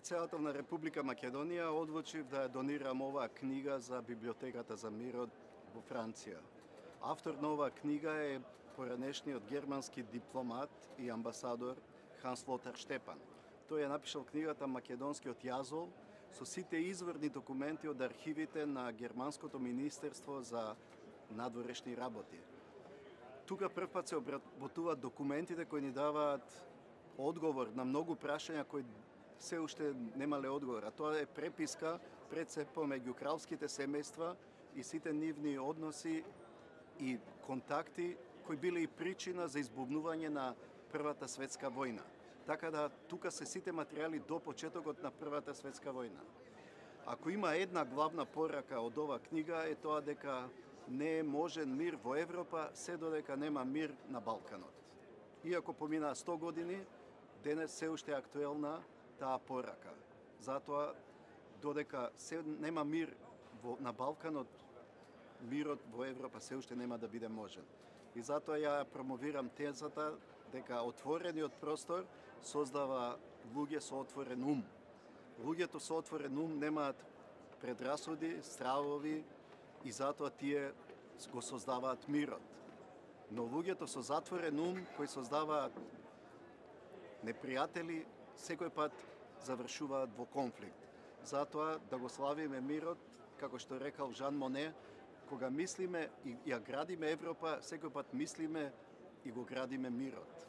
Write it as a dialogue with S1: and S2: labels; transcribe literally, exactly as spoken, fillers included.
S1: Председател на Република Македонија одлучив да ја донирам оваа книга за Библиотеката за мирот во Франција. Автор на оваа книга е поранешниот германски дипломат и амбасадор Ханс Лотар Штепан. Тој ја напишал книгата Македонскиот јазол со сите изворни документи од архивите на Германското министерство за надворешни работи. Тука првпат се обработуваат документите кои ни даваат одговор на многу прашања кои се уште немале одговор, а тоа е преписка пред се помеѓу кралските семејства и сите нивни односи и контакти кои биле и причина за избувнување на Првата светска војна. Така да тука се сите материјали до почетокот на Првата светска војна. Ако има една главна порака од оваа книга е тоа дека не е можен мир во Европа се додека нема мир на Балканот. Иако поминаа сто години, денес се уште е актуелна таа порака. Затоа, додека се нема мир во, на Балканот, мирот во Европа се уште нема да биде можен. И затоа ја промовирам тезата дека отворениот простор создава луѓе со отворен ум. Луѓето со отворен ум немаат предрасуди, стравови и затоа тие го создаваат мирот. Но луѓето со затворен ум кои создаваат непријатели секој пат завршуваат во конфликт. Затоа да го славиме мирот, како што рекал Жан Моне, кога мислиме и ја градиме Европа, секој пат мислиме и го градиме мирот.